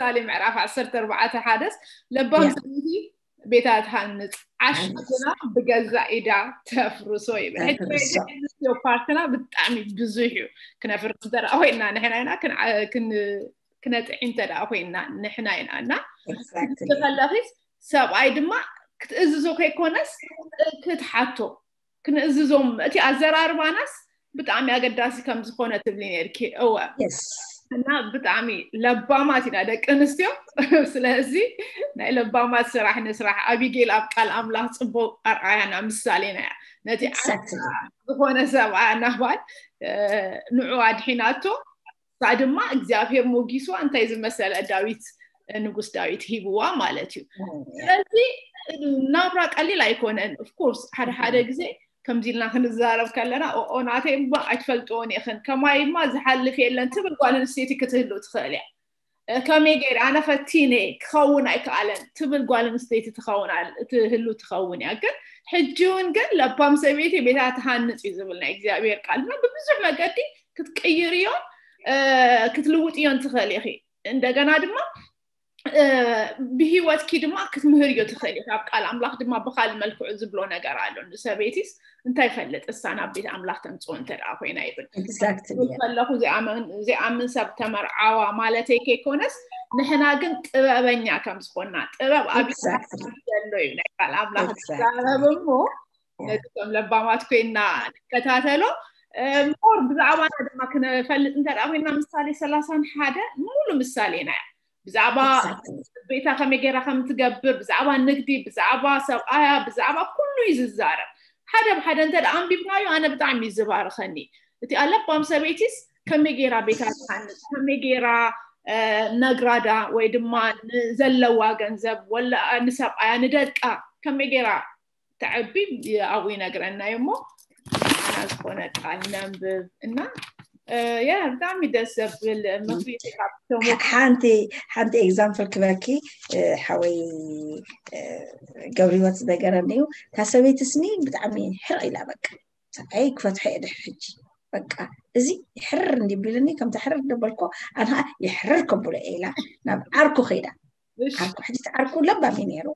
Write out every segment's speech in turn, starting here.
ምሳሌ ምዕራፍ ዓሰርተ ኣርባዕተ ሓደስ ለባም ሰበይቲ ቤታ ትሃንጽ፣ ዓሽ ግና ብገዛ ኢዳ ተፍርሶ ይብል። ሕጂ ናይ ደቂ ኣንስትዮ ፓርትና ብጣዕሚ ብዙሕ እዩ። ክነፍርስ እንተ ደኣ ኮይና ንሕና ኢና፣ ክን- ክን- ክነጥዒ እንተ ደኣ ኮይና ንሕና ኢና። እና ክትእዝዚ ከለኺስ ሰብኣይ ድማ ክትእዝዞ ከይኮነስ ክትሓቶ፣ ክንእዝዞም፣ እቲ ኣዘራርባናስ ብጣዕሚ ኣገዳሲ ከም ዝኾነ ትብሊ ነርኪ። እወ። እና ብጣዕሚ ለባማት ኢና ደቂ ኣንስትዮ። ስለዚ ናይ ለባማት ስራሕ ንስራሕ። ኣቢጌል ኣብ ቃል ኣምላኽ ጽቡቅ ኣርኣያና ምሳሌና እያ። ነቲ ዝኾነ ሰብኣ ናባል ንዑ ኣድሒናቶ፣ እሳ ድማ እግዚኣብሔር ሞጊስዋ እንታይ ዝመሰለ ዳዊት፣ ንጉስ ዳዊት ሂብዋ ማለት እዩ። ስለዚ ናብራ ቀሊል ኣይኮነን። ኦፍኮርስ ሓደ ሓደ ግዜ ከምዚ ኢልና ክንዛረብ ከለና ኦኦ ናተይ እባ ኣይትፈልጥዎን ኢኽን፣ ከማይ እማ ዝሓልፍ የለን ትብል ጓል ኣንስተይቲ ክትህሉ ትኽእል እያ። ከመይ ገይረ ኣነ ፈቲነ ክኸውን ኣይከኣለን ትብል ጓል ኣንስተይቲ ትኸውን ኣል- ትህሉ ትኸውን እያ። ግን ሕጂ እውን ግን ለባም ሰበይቲ ቤታ ትሃንጽ እዩ ዝብል ናይ እግዚኣብሔር ቃል እና ብብዙሕ መገዲ ክትቅይርዮን ክትልውጥዮን ትኽእል ኢኺ። እንደገና ድማ ብሂወትኪ ድማ ክትምህርዮ ትኽእል ኢኺ። ኣብ ቃል ኣምላኽ ድማ ብካል መልክዑ ዝብሎ ነገር ኣሎ። ንሰበይቲስ እንታይ ፈልጥ እሳ ናብ ቤት ኣምላኽ ተምፅኦ እንተ ደኣ ኮይና ይብል። ከለኹ ዘይኣምን ሰብ ተመርዓዋ ማለተይ ከይኮነስ ንሕና ግን ጥበበኛ ከም ዝኾንና ጥበብ ኣብ ዘሎ እዩ ናይ ቃል ኣምላኽ ዝዛረብ እሞ ነዚ ከም ለባማት ኮይና ንከታተሎ። ሞር ብዛዕባና ድማ ክነፈልጥ እንተ ደኣ ኮይና ምሳሌ ሰላሳን ሓደ ሙሉ ምሳሌና እያ። ብዛዕባ ቤታ ከመይ ገይራ ከም ትገብር፣ ብዛዕባ ንግዲ፣ ብዛዕባ ሰብኣያ፣ ብዛዕባ ኩሉ እዩ ዝዛረብ። ሓደ ብሓደ እንተ ደኣ ኣንቢብናዮ ኣነ ብጣዕሚ እዩ ዝባርኸኒ። እቲ ኣለባም ሰበይቲስ ከመይ ገይራ ቤታ ትሃንጽ፣ ከመይ ገይራ ነግራዳ ወይ ድማ ንዘለዋ ገንዘብ ወላ ንሰብኣያ ንደቃ ከመይ ገይራ ተዐቢ ኣብኡ ይነግረና እዩ እሞ ንዓና ዝኾነ ቃል ነንብብ እና ያ ብጣዕሚ ደስ ዘብል ምክሪ። ሓንቲ ሓንቲ ኤግዛምፕል ክበኪ ሓወይ ገብርወት ዝነገረኒ እዩ። እታ ሰበይቲ ስኒ ብጣዕሚ ሕርቕ ኢላ በቃ ሰብኣይ ክፈትሖ እየ ድሕሪ ሕጂ በቃ እዚ ይሕርር እንዲቢልኒ ከምታ ሕርር ደበልኮ ኣንሃ ይሕርር ከብሎ እየ ኢላ ናብ ዓርኩ ከይዳ ዓርኩ ሕጂ ዓርኩ ለባሚ ነይሩ።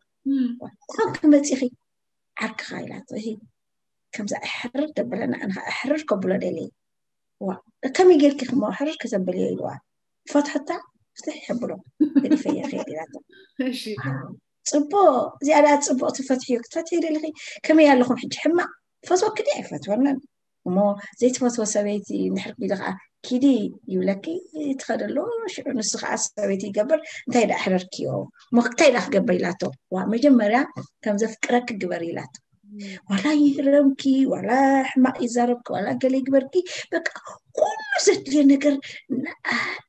ካብ ክመፂኺ ዓርክኻ ኢላቶ እሂ ከምዛ እሕርር ደብለና ኣንኻ እሕርር ከብሎ ደልየ ዋ ከመይ ጌርኪ ክመ ሕርር ከተብልዮ ኢልዋ ፈትሐታ ፍትሕ የብሎ ገዲፈየ ከይድ ኢላቶ። ፅቡቅ እዚኣ ደኣ ፅቡቅ ትፈትሕዮ ክትፈትሒ ደሊኺ ከመይ ኣለኹም ሕጂ ሕማቅ ፈትወኪ ድየ ኣይፈትወንን እሞ ዘይትፈትወ ሰበይቲ እንድሕር ኢሉ ከዓ ኪዲ ይብለኪ ትኸደሉ ሽዑ ንሱ ከዓ ሰበይቲ ይገብር እንታይ ደኣ ሕረርክዮ እሞ እንታይ ደኣ ክገብር ኢላቶ ዋ መጀመርያ ከም ዘፍቅረኪ ግበር ኢላቶ ዋላ ይህረምኪ ዋላ ሕማቅ ይዛረብኪ ዋላ ገለ ይግበርኪ በቃ ኩሉ ዘድልዮ ነገር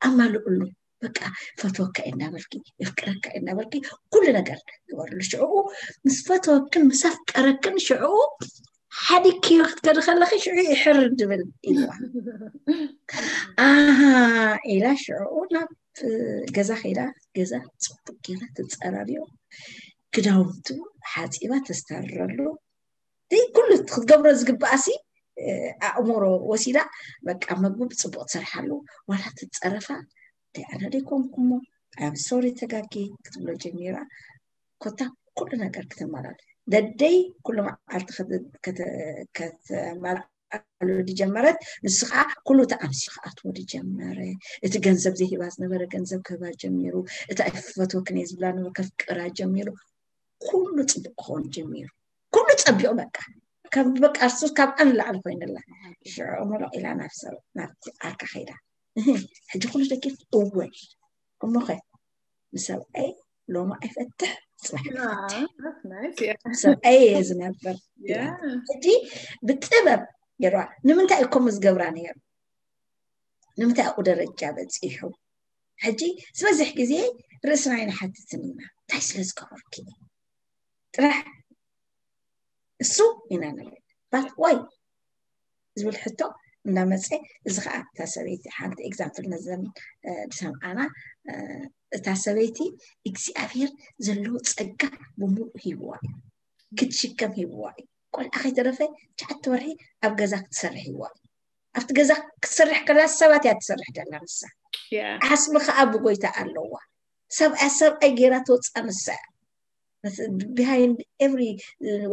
ኣማልእሉ በቃ ፈትወካ እናበልኪ የፍቅረካ እናበልኪ ኩሉ ነገር ግበርሉ ሽዕኡ ምስ ፈተወክን ምስ ኣፍቀረክን ሽዕኡ ሓዲግክዮ ክትከዲ ከለኺ ሽዑ ይሕር ድብል ኢልዋ ኣሃ ኢላ ሽዕኡ ናብ ገዛ ከይዳ ገዛ ፅቡቅ ገይራ ትፀራርዮ ክዳውንቱ ሓፂባ ተስታርረሉ ኩሉ ክትገብሮ ዝግባኣሲ ኣእምሮ ወሲዳ በቃ መግቢ ብፅቡቅ ትሰርሓሉ ዋላ ትፀረፋ ኣነ ደይኮንኩሞ ኣብ ሶሪ ተጋጊ ክትብሎ ጀሚራ ኮታ ኩሉ ነገር ክተማላል ደደይ ኩሉ መዓልቲ ከተማልኣሉ ድጀመረት ንሱ ከዓ ኩሉ እቲ ኣምሲ ክኣትዎ ድጀመረ እቲ ገንዘብ ዘይሂባ ዝነበረ ገንዘብ ክህባ ጀሚሩ እቲ ኣይፈትወክን እየ ዝብላ ነበረ ከፍቅራ ጀሚሩ ኩሉ ፅቡቅ ክኾን ጀሚሩ ኩሉ ፀቢቁ በቃ ከም በቃ እሱ ካብ ኣን ላዕሊ ኮይንላ ሽዑ ምሉቕ ኢላ ናብ ሰብ ናብቲ ዓርካ ከይዳ ሕጂ ኩሉ ደቂፍ እወ እሞኸ ንሰብኣይ ሎሚ ኣይፈትሕ ፅባሕ ሰብኣይ እየ ዝነብር ሕጂ ብጥበብ ገይርዋ ንምንታይ እኮ ዝገብራ ነይሩ ንምንታይ ኣብኡ ደረጃ በፂሑ ሕጂ ዝበዝሕ ግዜ ርእስና ኣይንሓትትን ኢና እንታይ ስለ ዝገበርኪ ጥራሕ እሱ ኢና ንብል ባት ዋይ ዝብል ሕቶ እናመፀ እዚ ከዓ እታ ሰበይቲ ሓንቲ ኤግዛምፕል ነዘን ዝሰምዓና እታ ሰበይቲ እግዚኣብሔር ዘለዎ ፀጋ ብምሉእ ሂብዋ እዩ ክትሽከም ሂብዋ እዩ ቆልዓ ከይተረፈ ትሽዓተ ወርሒ ኣብ ገዛ ክትሰርሕ ሂብዋ እዩ ኣብቲ ገዛ ክትሰርሕ ከላ ሰባት እያ ትሰርሕ ደላ ንሳ ዓስሚ ከዓ ብጎይታ ኣለዋ ሰብኣይ ሰብኣይ ገይራ ትወፅኣ ንሳ እያ። Behind every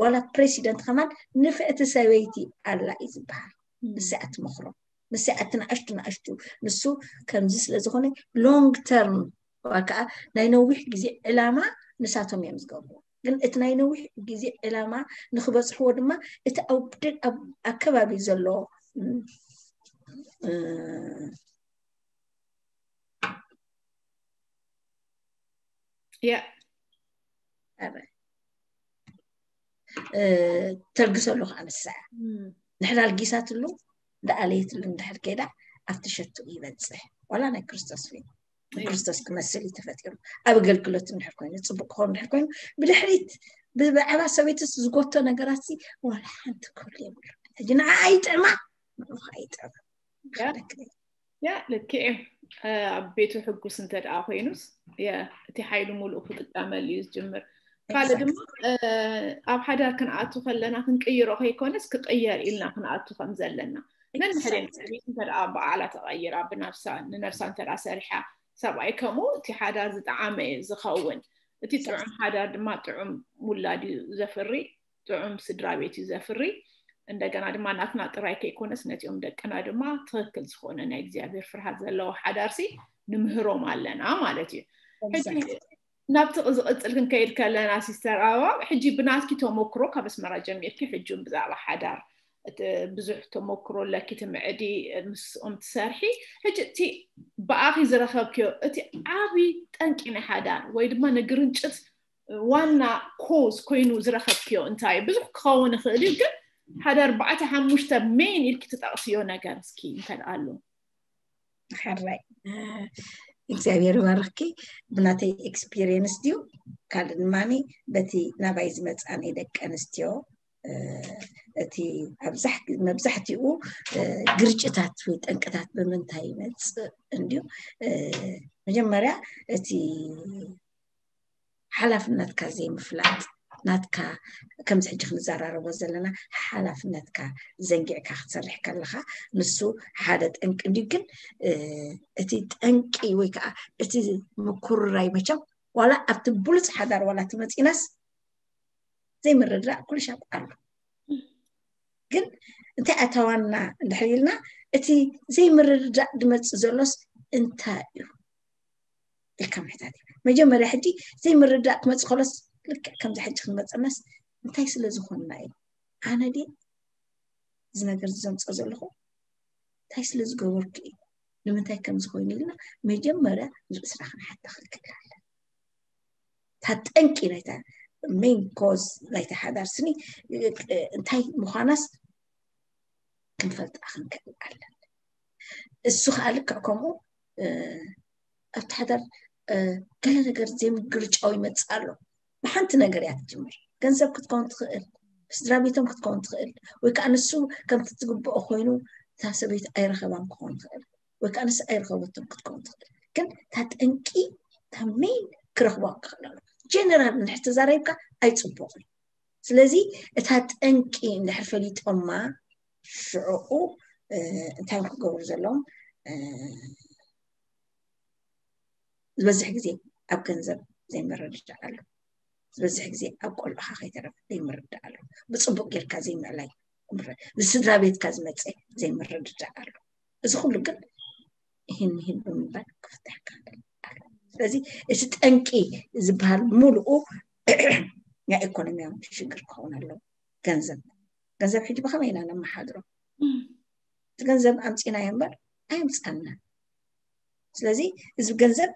ዋላ ፕሬሲደንት ከማን ንፍዕቲ ሰበይቲ ኣላ እዩ ዝበሃል። ንሳ እያ ትመኽሮ፣ ንሳ እያ እቲ ንኣሽቱ ንኣሽቱ። ንሱ ከምዚ ስለ ዝኾነ long term ወይ ከዓ ናይ ነዊሕ ግዜ ዕላማ ንሳቶም እዮም ዝገብሩ። ግን እቲ ናይ ነዊሕ ግዜ ዕላማ ንክበፅሕዎ ድማ እቲ ኣብ ኣከባቢ ዘሎ ያ ተልግሰሉ ከዓ ንሳ እያ። ንሕና ኣልጊሳትሉ እንዳኣለየትሉ እንድሕር ከይዳ ኣብቲ ሸቱ ይበፅሕ። ዋላ ናይ ክርስቶስ ፊልም ንክርስቶስ ክመስል እዩ ተፈጢሩ። ኣብ ኣገልግሎት እንድሕር ኮይኑ፣ ፅቡቅ ክኸውን እንድሕር ኮይኑ፣ ብድሕሪት ብዛዕባ ሰበይትስ ዝጎቶ ነገራት ዋላ ሓንቲ ክህሉ የብሉ። ሕጂ ንዓ ኣይጥዕማ ንዑ ኣይጥዕማ ያ ልክዕ እዩ። ኣብ ቤቱ ሕጉስ እንተ ደኣ ኮይኑስ እቲ ሓይሉ ሙሉእ ክጥቀመሉ እዩ ዝጅምር። ካልእ ድማ ኣብ ሓዳር ክንኣቱ ከለና ክንቅይሮ ከይኮነስ ክቅየር ኢልና ክንኣቱ ከም ዘለና ነንሕደ ቤት እንተ ደኣ በዓላ ተቐይራ ብናብሳ ንነብሳ እንተ ደኣ ሰሪሓ ሰብኣይ ከምኡ እቲ ሓዳር ዝጠዓመ እዩ ዝኸውን። እቲ ጥዑም ሓዳር ድማ ጥዑም ውላድ እዩ ዘፍሪ፣ ጥዑም ስድራ ቤት እዩ ዘፍሪ። እንደገና ድማ ናትና ጥራይ ከይኮነስ ነቲኦም ደቅና ድማ ትኽክል ዝኾነ ናይ እግዚኣብሔር ፍርሃት ዘለዎ ሓዳርሲ ንምህሮም ኣለና ማለት እዩ። ሕጂ ናብቲ ዝቕፅል ክንከይድ ከለና ሲስተር ኣበባ ሕጂ ብናትኪ ተመክሮ ካብ ኣስመራ ጀሚርኪ ሕጂ እውን ብዛዕባ ሓዳር ብዙሕ ተመክሮ ኣለኪ ትምዕዲ ምስኦም ትሰርሒ። ሕጂ እቲ ብኣኺ ዝረኸብክዮ እቲ ዓብዪ ጠንቂ ናይ ሓዳር ወይ ድማ ንግርንጭት ዋና ኮዝ ኮይኑ ዝረኸብክዮ እንታይ ብዙሕ ክኸውን ይኽእል እዩ ግን ሓደ ኣርባዕተ ሓሙሽተ ሜን ኢልኪ ትጠቕስዮ ነገር እስኪ እንታይ ኣሎ? ሕራይ እግዚኣብሔር ይባርኽኪ። ብናተይ ኤክስፒሪየንስ ድዩ ካልእ ድማ በቲ ናባይ ዝመፃኒ ደቂ ኣንስትዮ እቲ መብዛሕትኡ ግርጭታት ወይ ጠንቅታት ብምንታይ ይመፅእ እንድዩ? መጀመርያ እቲ ሓላፍነትካ ዘይምፍላጥ ናትካ ከምዚ ሕጂ ክንዘራረቦ ዘለና ሓላፍነትካ ዘንጊዕካ ክትሰርሕ ከለካ ንሱ ሓደ ጠንቂ እንድዩ። ግን እቲ ጠንቂ ወይ ከዓ እቲ ምኩርራይ መቸም ዋላ ኣብቲ ብሉፅ ሓዳር ዋላ ትመፂናስ ዘይምርድዳእ ኩሉ ሻብ ኣሎ። ግን እንታይ ኣተዋና እንድሕር ኢልና እቲ ዘይምርድዳእ ድመፅእ ዘሎስ እንታይ እዩ ኢልካ ምሕታት እዩ። መጀመርያ ሕጂ ዘይምርዳእ ክመፅእ ከሎስ ልክዕ ከምዚ ሕጂ ክንመፀናስ እንታይ ስለ ዝኾንና እዩ? ኣነ ድየ እዚ ነገር ዘምፀ ዘለኹ እንታይ ስለ ዝገበርኩ እዩ? ንምንታይ ከም ዝኾይኑ ኢልና መጀመርያ ንርእስና ክንሓታ ክንክእል ኣለና። እታ ጠንቂ ናይታ ሜን ኮዝ ናይታ ሓዳር ስኒ እንታይ ምዃናስ ክንፈልጣ ክንክእል ኣለና። እሱ ከዓ ልክዕ ከምኡ ኣብቲ ሓዳር ገለ ነገር ዘይምግርጫው ይመፅእ ኣሎ። ብሓንቲ ነገር እያ ትጅምር። ገንዘብ ክትከውን ትኽእል፣ ስድራ ቤቶም ክትከውን ትኽእል፣ ወይ ከዓ ንሱ ከምቲ ትግብኦ ኮይኑ እታ ሰበይቲ ኣይረኸባን ክኸውን ትኽእል፣ ወይ ከዓ ንስ ኣይረኸበቶም ክትከውን ትኽእል። ግን እታ ጠንቂ እታ ሜን ክረኽቧ ክኽእል ኣሎ። ጀነራል እንድሕር ተዛረብካ ኣይፅቡቕን። ስለዚ እታ ጠንቂ እንድሕር ፈሊጦማ ሽዕኡ እንታይ ክገብሩ ዘለዎም ዝበዝሕ ግዜ ኣብ ገንዘብ ዘይምርድዳእ ኣሎ። ዝበዝሕ ግዜ ኣብ ቆልዑኻ ከይተረፈ ዘይምርዳእ ኣሎ። ብፅቡቅ ጌርካ ዘይምዕላይ፣ ብስድራ ቤትካ ዝመፀ ዘይምርድዳእ ኣሎ። እዚ ኩሉ ግን ይህን ይህን ብምባል ክፍታሕ ክኽእል ኣሎ። ስለዚ እቲ ጠንቂ ዝበሃል ሙሉኡ ናይ ኢኮኖሚያዊ ሽግር ክኸውን ኣለዎ። ገንዘብ ገንዘብ ሕጂ ብኸመይ ኢና ነመሓድሮ? እቲ ገንዘብ ኣምፂናዮ እምበር ኣየምፃና። ስለዚ እዚ ገንዘብ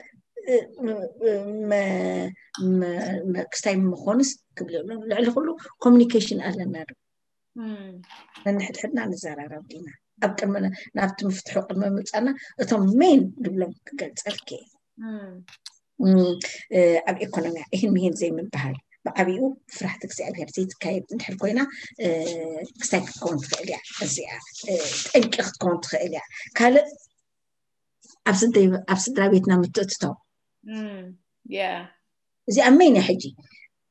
ክስታይ ምኾንስ ክብል ልዕሊ ኩሉ ኮሚኒኬሽን ኣለና ዶ? ነንሕድሕድና ንዘራረብ ዲና? ኣብ ቅድሚ ናብቲ ምፍትሑ ቅድሚ ምፃና እቶም ሜን ድብሎም ክገልፀልክ ኣብ ኢኮኖሚያ ይህን ምሂን ዘይምበሃል ብዓብኡ ፍራሕቲ እግዚኣብሔር ዘይትካየድ እንድሕር ኮይና ክስታይ ክትከውን ትኽእል እያ። እዚኣ ጠንቂ ክትከውን ትኽእል እያ። ካልእ ኣብ ስድራ ቤትና ምትእትታው እዚኣ መይን እያ። ሕጂ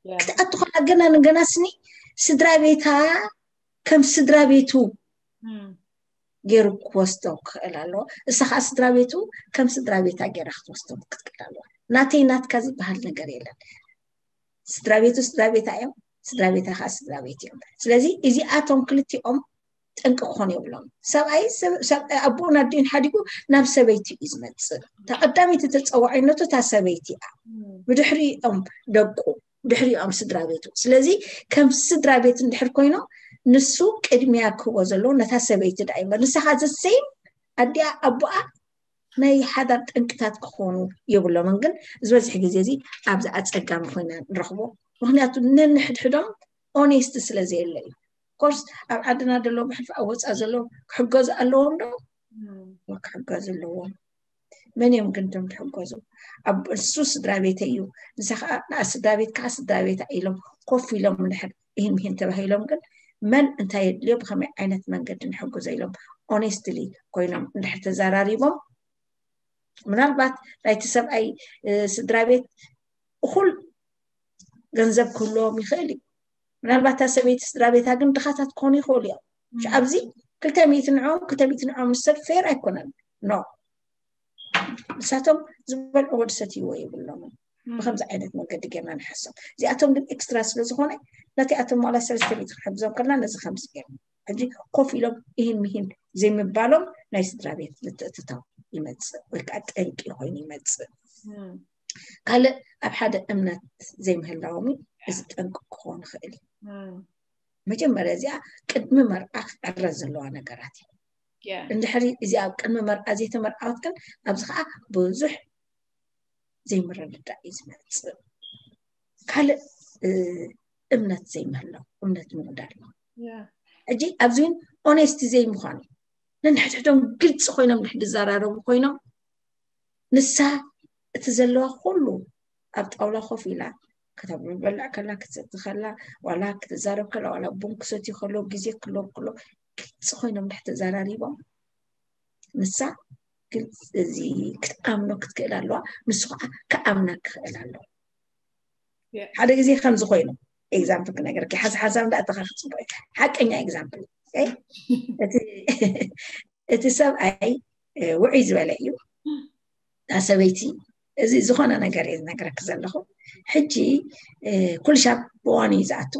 ክትኣቱ ከላ ገና ንገና ስኒ ስድራ ቤታ ከም ስድራ ቤቱ ገይሩ ክወስዶ ክኽእል ኣለዎ። እሳ ከዓ ስድራ ቤቱ ከም ስድራ ቤታ ገይራ ክትወስዶ ክትክእል ኣለዋ። ናተይ ናትካ ዝበሃል ነገር የለን። ስድራ ቤቱ ስድራ ቤታ እዮም፣ ስድራ ቤታ ከዓ ስድራ ቤት እዮም። ስለዚ እዚኣቶም ክልቲኦም ጠንቂ ክኾኑ የብሎም። ሰብኣይ ኣቦን ኣዲኡን ሓዲጉ ናብ ሰበይቲ እዩ ዝመፅእ። ተቐዳሚቲ ተፀዋዒነቱ እታ ሰበይቲ እያ። ብድሕሪኦም ደቁ፣ ብድሕሪኦም ስድራ ቤቱ። ስለዚ ከም ስድራ ቤት እንድሕር ኮይኖም ንሱ ቅድሚያ ክህቦ ዘለዎ ነታ ሰበይቲ ደኣ እምበር ንሳኻ ዘሰይም ኣዲኣ ኣቦኣ ናይ ሓዳር ጠንቅታት ክኾኑ የብሎምን። ግን ዝበዝሕ ግዜ እዚ ኣብዚ ኣፀጋሚ ኮይና ንረኽቦ። ምክንያቱ ነንሕድሕዶም ኦኔስት ስለ ዘየለ እዩ። ኮርስ ኣብ ዓድና ደሎ ብሕልፊ ኣብ ወፃ ዘሎ ክሕገዙ ኣለዎም ዶ? ክሕገዙ ኣለዎም። መን እዮም ግን እቶም ትሕገዙ? ኣብ እሱ ስድራ ቤተ እዩ፣ ንሳ ከዓ ንኣ ስድራ ቤት ከዓ ስድራ ቤት ኢሎም ኮፍ ኢሎም ንድሕር ይህን ምሂን ተባሂሎም ግን መን እንታይ የድልዮ ብከመይ ዓይነት መንገዲ ንሕግዞ ኢሎም ኦኔስትሊ ኮይኖም እንድሕር ተዘራሪቦም ምናልባት ናይቲ ሰብኣይ ስድራ ቤት እኩል ገንዘብ ክህልዎም ይኽእል እዩ። ምናልባት እታ ሰበይቲ ስድራ ቤታ ግን ድኻታት ክኾኑ ይኽእሉ እዮም። ኣብዚ ክልተ ሚእቲ ንዕኦም ክልተ ሚእቲ ንዕኦም ንሰድ ፌር ኣይኮነን። ኖ ንሳቶም ዝበልዕዎ ዝሰትይዎ የብሎምን። ብከምዚ ዓይነት መንገዲ ጌርና ንሓሶም። እዚኣቶም ግን ኤክስትራ ስለ ዝኾነ ነቲ ኣቶም ዋላ ሰለስተ ሚእቲ ክንሕግዞም ከለና ነዚ ከምዚ ጌርና ሕጂ ኮፍ ኢሎም ይህን ምሂን ዘይምባሎም ናይ ስድራ ቤት ምትእትታው ይመፅእ ወይ ከዓ ጠንቂ ኮይኑ ይመፅእ። ካልእ ኣብ ሓደ እምነት ዘይምህላዎም እዚ ጠንቂ ክኸውን ይኽእል እዩ። መጀመርያ እዚኣ ቅድሚ መርዓ ክዕረ ዘለዋ ነገራት እዩ። እንድሕሪ እዚኣ ኣብ ቅድሚ መርዓ ዘይተመርዓወት ግን ኣብዚ ከዓ ብዙሕ ዘይምርድዳእ እዩ ዝመፅእ። ካልእ እምነት ዘይምህላው፣ እምነት ምጉዳል። ሕጂ ኣብዚ እውን ኦኔስቲ ዘይምዃኑ ነንሕድሕዶም ግልፂ ኮይኖም ድሕር ዝዘራረቡ ኮይኖም ንሳ እቲ ዘለዋ ኩሉ ኣብ ጣውላ ኮፍ ኢላ ከተብሉ በልዕ ከላ ክትሰቲ ከላ ዋላ ክትዛረብ ከላ ዋላ ቡን ክሰትዩ ከሎ ግዜ ክህሎም ከሎ ግልፂ ኮይኖም ድሕር ተዘራሪቦም ንሳ ግልፂ እዚ ክትኣምኖ ክትክእል ኣለዋ። ንሱ ከዓ ክኣምና ክኽእል ኣለዎ። ሓደ ግዜ ከምዚ ኮይኑ ኤግዛምፕል ክነገርኪ ሓዚ ሓንሳብ እንዳእተኻ ክፅቡቅ ሓቀኛ ኤግዛምፕል እቲ ሰብኣይ ውዑይ ዝበለ እዩ። እታ ሰበይቲ እዚ ዝኾነ ነገር እየ ዝነግረኪ ዘለኹ። ሕጂ ኩልሻብ ብዋኑ እዩ ዝኣቱ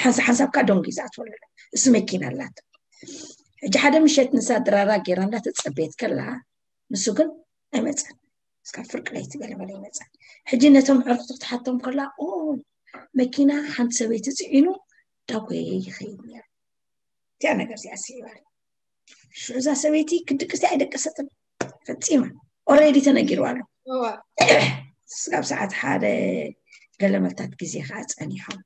ሓንሳብ ሓንሳብ ከዓ ደንጉ እዩ ዝኣትወሉ። እሱ መኪና ኣላቶ። ሕጂ ሓደ ምሸት ንሳ ድራራ ገይራ እንዳተፀበየት ከላ ንሱ ግን ኣይመፀን። እስካብ ፍርቂ ለይቲ ገለ መለ ይመፀን። ሕጂ ነቶም ዕርክቱ ክትሓቶም ከላ ኦ መኪና ሓንቲ ሰበይቲ ፅዒኑ ዳጎየ ይኸይድ ነይሩ። እቲኣ ነገር እዚኣ ስዒባ ሽዑ እዛ ሰበይቲ ክድቅስ ኣይደቀሰትን ፈፂማ። ኦሬዲ ተነጊርዋ ኣሎ። ስጋብ ሰዓት ሓደ ገለመልታት ግዜ ከዓ ፀኒሖም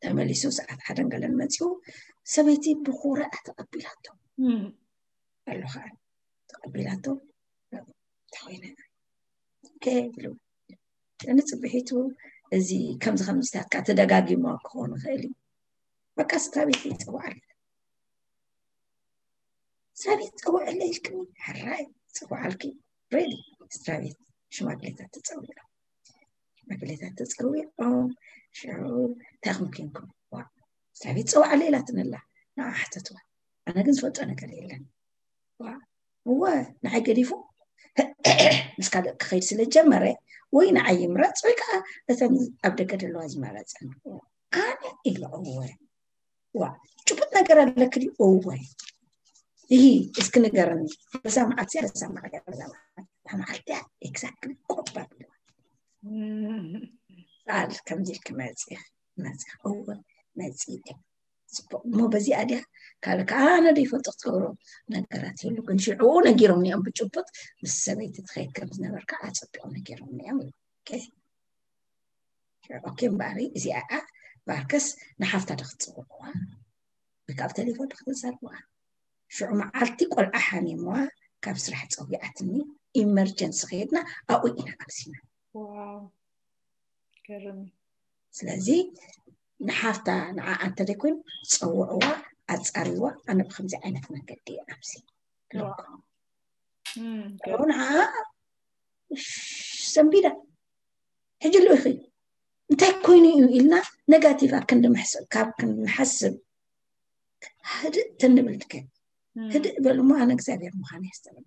ተመሊሱ ሰዓት ሓደን ገለን መፂኡ ሰበይቲ ብኩርዕ ተቐቢላቶ ኣሎ ከዓ ተቐቢላቶ ተኮይነ ብሉ ንፅብሒቱ እዚ ከምዚ ከምዚታት ከዓ ተደጋጊሞ ክኸውን ይኽእል እዩ። በቃ ስድራ ቤት ይፅዋዓል ስድራ ቤት ፀውዕለ ኢልክኒ ሕራይ ፅዋዓልኪ ሬዲ ስድራ ቤት ሽማግሌታት ተፀዊዖም ሽማግሌታት ተፀዊዖም ሽዑ እንታይ ከም ኮንኩም ስድራ ቤት ፀዋዓለ ኢላትንላ ንዓ ሓተትዋ ኣነ ግን ዝፈልጦ ነገር የለን እወ ንዓይ ገዲፉ ምስ ካልእ ክኸይድ ስለ ጀመረ ወይ ንዓይ ይምረፅ ወይ ከዓ እተን ኣብ ደገ ዘለዋ ዝመረፀን ኣነ ኢለ እወ ዋ ጭቡጥ ነገር ኣለክ ድዩ እወ ይሂ እስኪ ንገረኒ በዛ መዓልቲ በዛ መዓልቲ በዛ መዓልቲ እታ መዓልቲ እያ ኤግዛክትሊ ቆባ ቃል ከምዚ ኢልክ መፂኽ መፂኽ እወ መፂ እየ ፅቡቅ እሞ በዚኣ ድያ ካልእ ከዓ ኣነ ዘይፈልጦ ክትገብሮ ነገራት የሉ ግን ሽዕኡ ነጊሮም እዮም ብጭቡጥ ምስ ሰበይቲ ትኸይድ ከም ዝነበርካ ኣፀቢቆም ነጊሮም እዮም ኦኬ እምበኣሪ እዚኣ ባርከስ ንሓፍታ ዶ ክትፅውዕዋ ወይ ካብ ቴሌፎን ዶ ክትዛርብዋ ሽዑ መዓልቲ ቆልዓ ሓሚምዋ ካብ ስራሕ ፀዊዓትኒ ኢመርጀንሲ ከይድና ኣብኡ ኢና ኣብሲና ስለዚ ንሓፍታ ንዓ እንተደይኮይኑ ፀውዕዋ ኣፃሪዋ ኣነ ብከምዚ ዓይነት መንገዲ ኣብዚ ንዓ ሰንቢዳ ሕጂ ልኢኺ እንታይ ኮይኑ እዩ ኢልና ነጋቲቭ ኣብ ክንዲ ምሕሰብ ካብ ክንሓስብ ህድእ ተንብል ትከን ህድእ በሉ እሞ ኣነ እግዚኣብሔር ምዃን የስተብለ።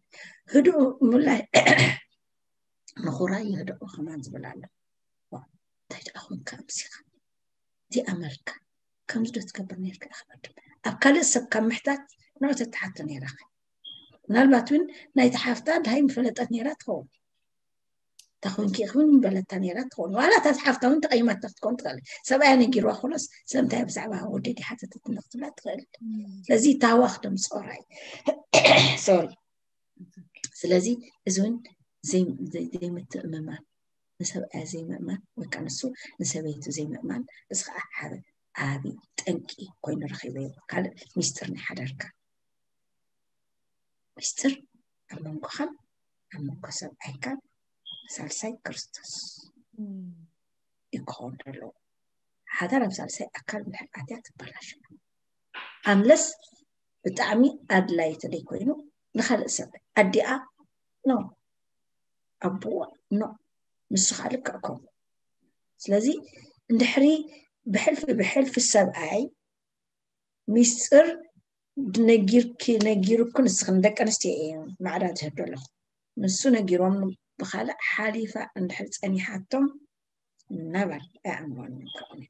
ህድኡ ምላይ ንኹራ ይህድኦ ከማን ዝብል ኣሎ። እንታይ ደኣ ኮንካ ኣምሲኻ እዚኣ መልካ ከምዚ ዶ ትገብር ነርካ ኢኻ ቅድም ኣብ ካልእ ሰብ ካብ ምሕታት ንዑ ተተሓቶ ነይራኻ። ምናልባት እውን ናይቲ ሓፍታ ድሃይ ምፈለጠት ነይራ ትኸውን። ተኾንኪ ኢኺ እውን ምበለታ ነይራ ትኸውን። ዋላ እታ ሓፍታ እውን ተቐይማታ ክትኮን ትኽእል። ሰብኣያ ነጊርዋ ክሎስ ስለምንታይ ብዛዕባ ወደይ ሓተተት ክትብላ ትኽእል። ስለዚ ታዋ ክደምፅኦ ራይ ሶሪ ስለዚ እዚ እውን ዘይምትእምማን ንሰብኣያ ዘይምእማን ወይ ከዓ ንሱ ንሰበይቱ ዘይምእማን እዚ ከዓ ሓደ ዓቢ ጠንቂ ኮይኑ ረኺበዮ። ካልእ ሚስጥር ናይ ሓዳርካ ሚስጥር ኣብ መንጎኻን ኣብ መንጎ ሰብኣይካን ሳልሳይ ክርስቶስ እዩ ክኸውን ዘለዎ። ሓዳር ኣብ ሳልሳይ ኣካል እንድሕር ኣትያ ትበላሾ። ኣምለስ ብጣዕሚ ኣድላይ ተደይ ኮይኑ ንካልእ ሰብ ኣዲኣ ኖ ኣቦዋ ኖ ንስኻ ልክዕ ከምኡ። ስለዚ እንድሕሪ ብሕልፊ ብሕልፊ ሰብኣይ ሚስጥር ነጊርኪ ነጊሩኩ ንስኽን ደቂ ኣንስትዮ እየ ማዕዳ ዝህብ ዘለኹ። ንሱ ነጊሮም ብኻልእ ሓሊፋ እንድሕር ፀኒሓቶም ነበር ኣእምሮን ከቕኒ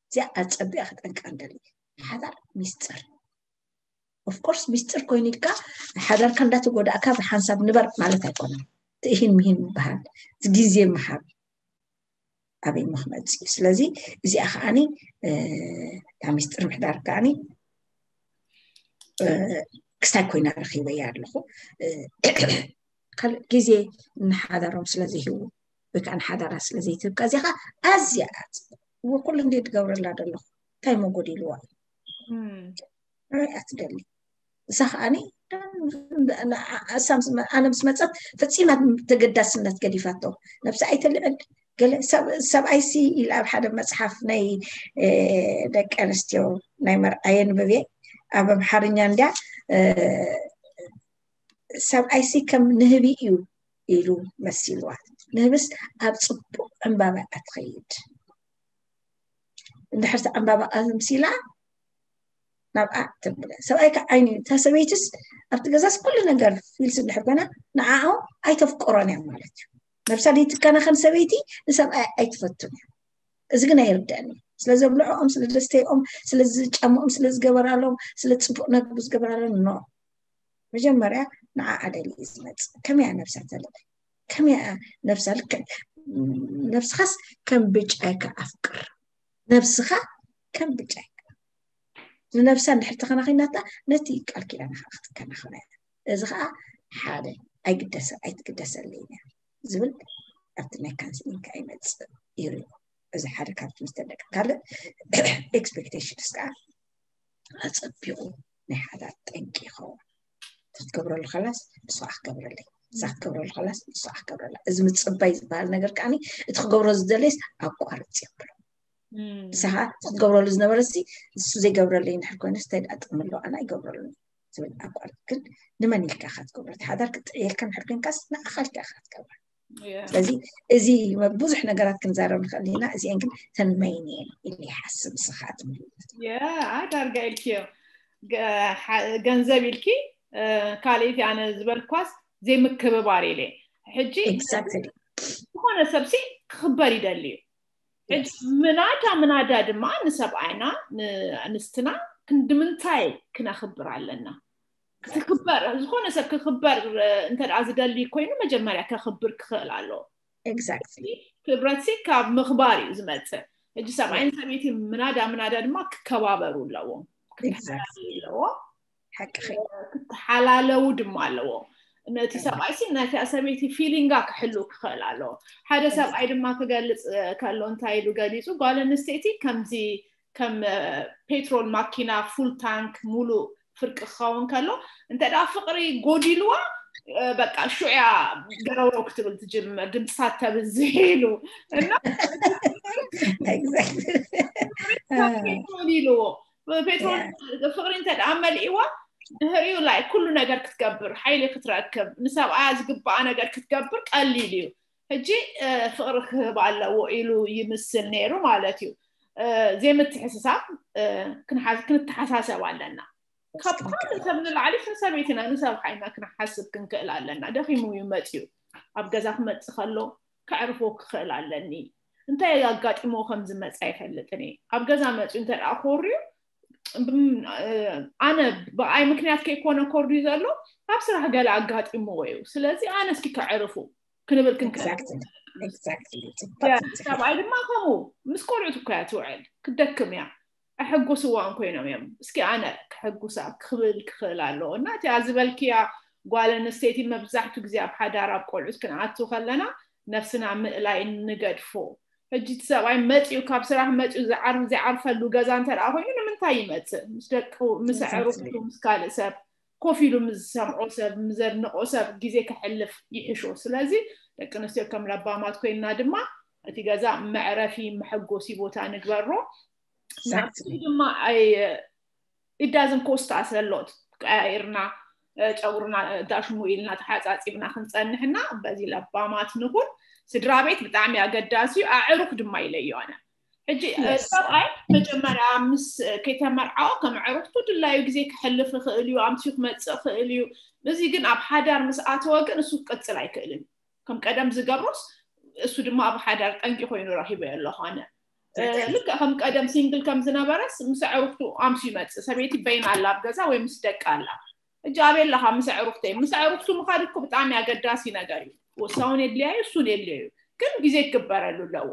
እዚኣ ኣፀቢኣ ክጠንቀቕ እንደሊ ሓዳር ሚስጥር ኦፍኮርስ ሚስጥር ኮይኑ ኢልካ ሓዳርካ እንዳተጎዳእካ ብሓንሳብ ንበር ማለት ኣይኮነን። ትእሂን ምሂን ምበሃል ግዜ ምሃብ ኣበይ ምክመፅ እዩ። ስለዚ እዚኣ ከዓኒ እታ ሚስጥር ምሕዳር ከዓኒ ክስታይ ኮይና ረኪበያ ኣለኹ። ካልእ ግዜ ንሓዳሮም ስለዘይህቡ ወይ ከዓ ንሓዳራ ስለዘይትህብ ከዚኻ ኣዝያ እዎ ኩሉ እንደ ትገብረላ ዘለኹ እንታይ መጎዲልዋ እዩ ኣትደሊ እሳ ከዓኒ ኣነ ምስ መፀት ፈፂማ ተገዳስነት ገዲፋቶ ነብሳ ኣይተልዕል ገለ ሰብኣይሲ ኢላ ኣብ ሓደ መፅሓፍ ናይ ደቂ ኣንስትዮ ናይ መርኣየ ንብብየ ኣብ ኣምሓርኛ እንድያ ሰብኣይሲ ከም ንህቢ እዩ ኢሉ መሲልዋ። ንህብስ ኣብ ፅቡቅ ዕምባባ እያ ትኸይድ። እንድሕር ዕምባባ ኣምሲላ ናብኣ ትብለ። ሰብኣይ ከዓ ዓይኒ እታ ሰበይትስ ኣብቲ ገዛስ ኩሉ ነገር ፊልስ እንድሕር ኮይና ንዓኦም ኣይተፍቅሮን እያ ማለት እዩ። ነብሳ ዘይትከናኸን ሰበይቲ ንሰብኣይ ኣይትፈቱን እያ። እዚ ግን ኣይርደአኒ። ስለ ዘብልዖኦም፣ ስለ ዘስተይኦም፣ ስለ ዝጫምኦም፣ ስለ ዝገበራሎም፣ ስለ ፅቡቅ ነግቡ ዝገበራሎም ኖ መጀመርያ ንዓኣ ደልዩ ዝመፅእ ከመይ እያ ነብሳ ተልዕል ከመይ እያ ነብሳ ልክዕ ነብስኻስ ከም ብጫይካ ኣፍቅር ነብስኻ ከም ብጫይካ ንነብሳ እንድሕር ተኸናኺናታ ነቲ ቃል ኪዳንኻ ክትከናኸኖ እያ እዚ ከዓ ሓደ ኣይግደሰ ኣይትግደሰለይ እያ ዝብል ኣብቲ ናይ ካንስሊንግ ከዓ ይመፅእ ይርዮ እዚ ሓደ ካብቲ ምስ ተደቂ ካልእ ኤክስፔክቴሽንስ ከዓ ኣፀቢቑ ናይ ሓዳር ጠንቂ ይኸውን ክትገብረሉ ከላስ ንስኻ ክገብረለይ ንሳ ክትገብረሉ ከላስ ንስኻ ክገብረላ እዚ ምፅባይ ዝበሃል ነገር ከዓኒ እቲ ክገብሮ ዝደለይስ ኣቋርፅ ይብሎ ንስኻ ክትገብረሉ ዝነበረ ሲ እሱ ዘይገብረለይ እንድሕር ኮይነስ እንታይ ደኣ ጥቕሚ ኣለዎ ኣነ ኣይገብረሉን ዝብል ኣቋርፅ ግን ንመን ኢልካ ኢኻ ትገብሮ እቲ ሓዳር ክትጥዕየልካ እንድሕር ኮይንካስ ንዓኻ ኢልካ ኢኻ ክትገብረ ስለዚ እዚ ብዙሕ ነገራት ክንዛረብ ንኽእል ኢና እዚአን ግን ተን መይን እየን ኢለ ይሓስብ ንስኻ ትምልለት ዳርጋ ኢልክዮ ገንዘብ ኢልኪ ካልእቲ ኣነ ዝበልኳስ ዘይምክብባር ኢለ ሕጂ ዝኾነ ሰብሲ ክኽበር ይደሊ እዩ ሕጂ ምናዳ ምናዳ ድማ ንሰብኣይና ንኣንስትና ክንድምንታይ ክነኽብር ኣለና ክኽበር ዝኾነ ሰብ ክኽበር እንተ ዝደሊ ኮይኑ መጀመርያ ከኽብር ክኽእል ኣለዎ exactly ክብረትሲ ካብ ምኽባር እዩ ዝመፅእ ሕጂ ሰብኣይን ሰበይቲ ምናዳ ምናዳ ድማ ክከባበሩ ኣለዎም ክተሓላለዩ ኣለዎም ሓቅኺ ክተሓላለዉ ድማ ኣለዎ ነቲ ሰብኣይሲ ነታ ሰበይቲ ፊሊንጋ ክሕሉ ክኽእል ኣለዎ ሓደ ሰብኣይ ድማ ክገልፅ ከሎ እንታይ ኢሉ ገሊፁ ጓል ኣንስተይቲ ከምዚ ከም ፔትሮል ማኪና ፉል ታንክ ሙሉእ ፍርቂ ክኸውን ከሎ እንተ ደኣ ፍቕሪ ጎዲልዋ በቃ ሹዕያ ገረውረው ክትብል ትጅምር ድምፅታት ተብዝሕ ኢሉ እና ፔትሮል ኢልዎ ፔትሮል ፍቕሪ እንተ ደኣ መሊእዋ ድህሪኡ ላይ ኩሉ ነገር ክትገብር ሓይሊ ክትረክብ ንሰብኣያ ዝግባኣ ነገር ክትገብር ቀሊል እዩ ሕጂ ፍቕሪ ክህብ ኣለዎ ኢሉ ይምስል ነይሩ ማለት እዩ ዘይምትሕስሳብ ክንተሓሳሰብ ኣለና ካብ ካልእ ሰብ ንላዕሊ ንሰበይትና ንሰብኣይና ክንሓስብ ክንክእል ኣለና። ደኺሙ እዩ መፅዩ፣ ኣብ ገዛ ክመፅእ ከሎ ከዕርፎ ክኽእል ኣለኒ። እንታይ ኣጋጢሞ ከም ዝመፀ ኣይፈልጥን እየ። ኣብ ገዛ መፅዩ እንተ ደኣ ኮርዩ፣ ብም- ኣነ ብኣይ ምክንያት ከይኮነ ኮርዩ ዘሎ፣ ኣብ ስራሕ ገለ ኣጋጢምዎ እዩ። ስለዚ ኣነ እስኪ ከዕርፉ ክንብል ክንክእል Exactly. Exactly. ጽቡቅ። ሰብኣይ ድማ ከምኡ ምስ ቆልዑት እኮ እያ ትውዕል፣ ክትደክም እያ። ኣሐጉስዋን ኮይኖም እዮም። እስኪ ኣነ ክሕጉሳ ክብል ክኽእል ኣለዎ። እና እቲኣ ዝበልክያ ጓል ኣንስተይቲ መብዛሕቱ ግዜ ኣብ ሓዳር ኣብ ቆልዑት ክንኣቱ ከለና ነፍስና ምእላይ ንገድፎ። ሕጂ እቲ ሰብኣይ መፅኡ ካብ ስራሕ መፅኡ ዝዓር- ዝዓርፈሉ ገዛ እንተ ደኣ ኮይኑ ንምንታይ ይመፅእ? ምስ ደቁ ምስ Exactly. ኣዕሩኽቱ ምስ ካልእ ሰብ ኮፍ ኢሉ ምስ ዝሰምዖ ሰብ ምስ ዘድንቆ ሰብ ግዜ ከሕልፍ ይሕሾ። ስለዚ ደቂ ኣንስትዮ ከም ለባማት ኮይንና ድማ እቲ ገዛ መዕረፊ መሐጎሲ ቦታ ንግበሮ። ናብቲ Exactly. ድማ ኣይ it doesn't cost us a lot። ቀያይርና እ፣ ጨጉርና እ፣ ዳሽሙ ኢልና ተሓፃፂብና ክንፀንሕና በዚ ለባማት ንኹን። ስድራ ቤት ብጣዕሚ ኣገዳሲ እዩ። ኣዕሩኽ ድማ ኢለዮ ኣነ። ሕጂ እ፣ Yes. ሰብኣይ መጀመርያ ምስ እ፣ ከይተመርዓወ ከም ኣዕሩኽቱ ድላዩ ግዜ ክሕልፍ ይኽእል እዩ፣ ኣምስዩ ክመፅእ ይኽእል እዩ። እዚ ግን ኣብ ሓዳር ምስ ኣተወ ግን እሱ ክቅፅል ኣይክእልን። ከም ቀደም ዝገብሮስ እሱ ድማ ኣብ ሓዳር ጠንቂ ኮይኑ ረኺበዮ ኣለኹ ኣነ። እ፣ ልክዕ ከም ቀደም ሲንግል ከም ዝነበረስ ምስ ኣዕሩኽቱ ኣምስዩ ይመፅእ። ሰበይቲ በይና ኣላ ኣብ ገዛ ወይ ምስ ደቂ ኣላ። ሕጂ ኣበይ ኣለኻ? ምስ ኣዕሩኽተይ። ምስ ኣዕሩኽቱ ምኻድ እኮ ብጣዕሚ ኣገዳሲ ነገር እዩ። እሳውን የድልያ እዩ፣ እሱን የድልዮ እዩ። ግን ግዜ ክግበረሉ ኣለዎ።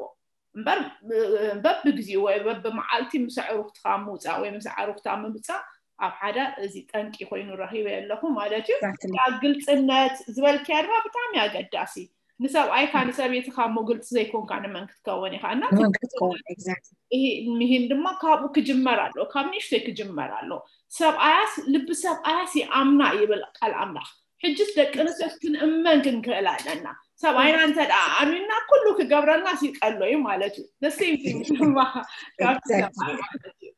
እምበር እ፣ በብግዜኡ ወይ በብመዓልቲ ምስ ኣዕሩኽትኻ ምውፃእ ወይ ምስ ኣዕሩኽታ ምምፃእ ኣብ ሓዳር እዚ ጠንቂ ኮይኑ ረኺበዮ ኣለኹ ማለት እዩ። Exactly. ያ ግልፅነት ዝበልክያ ድማ ብጣዕሚ ኣገዳሲ። ንሰብኣይካ ንሰበይትካ እሞ ግልፂ ዘይኮንካ ንመን ክትከውን ኢኻ? እና ንመን ክትከውን? Exactly. ይሄ ምሂን ድማ ካብኡ ክጅመር ኣሎ፣ ካብ ንእሽተይ ክጅመር ኣሎ። ሰብኣያስ ልቢ ሰብኣያስ ይኣምና ይብል ቃል ኣምላኽ። ሕጅስ ደቂ ኣንስትዮ ክንእመን ክንክእል ኣለና። ሰብኣይና እንተ ደኣ ኣሚንና ኩሉ ክገብረልና ሲቀሎ እዩ ማለት እዩ። The same thing ድማ ካብቲ Exactly. ሰብኣይ ማለት እዩ።